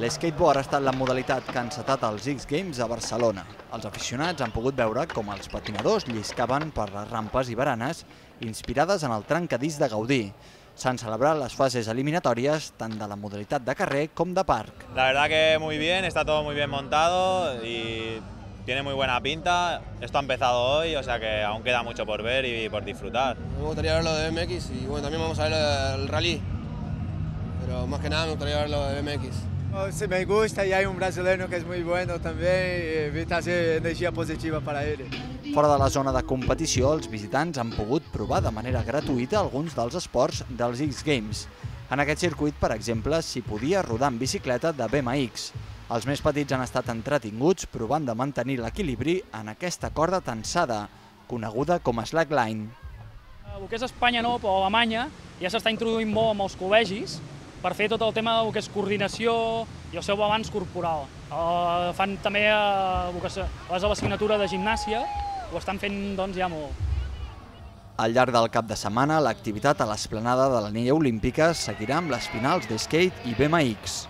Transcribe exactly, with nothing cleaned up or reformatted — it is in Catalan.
L'skateboard ha estat la modalitat que ha encetat els X Games a Barcelona. Els aficionats han pogut veure com els patinadors lliscaven per les rampes i baranes inspirades en el trencadís de Gaudí. S'han celebrat les fases eliminatòries tant de la modalitat de carrer com de parc. La verdad que muy bien, está todo muy bien montado y tiene muy buena pinta. Esto ha empezado hoy, o sea que aún queda mucho por ver y por disfrutar. Me gustaría ver lo de B M X y bueno, también vamos a ver el rally, pero más que nada me gustaría ver lo de B M X. Se me gusta y hay un brasileño que es muy bueno también y trazer energia positiva para él. Fora de la zona de competició, els visitants han pogut provar de manera gratuïta alguns dels esports dels X Games. En aquest circuit, per exemple, s'hi podia rodar en bicicleta de B M X. Els més petits han estat entretinguts provant de mantenir l'equilibri en aquesta corda tensada, coneguda com a slackline. El que és Espanya no, però a Alemanya ja s'està introduint molt amb els col·legis per fer tot el tema del que és coordinació i el seu balanç corporal. Uh, fan també uh, les de l'assignatura de gimnàsia, ho estan fent doncs, ja molt. Al llarg del cap de setmana, l'activitat a l'esplanada de l'Anella Olímpica seguirà amb les finals de skate i B M X.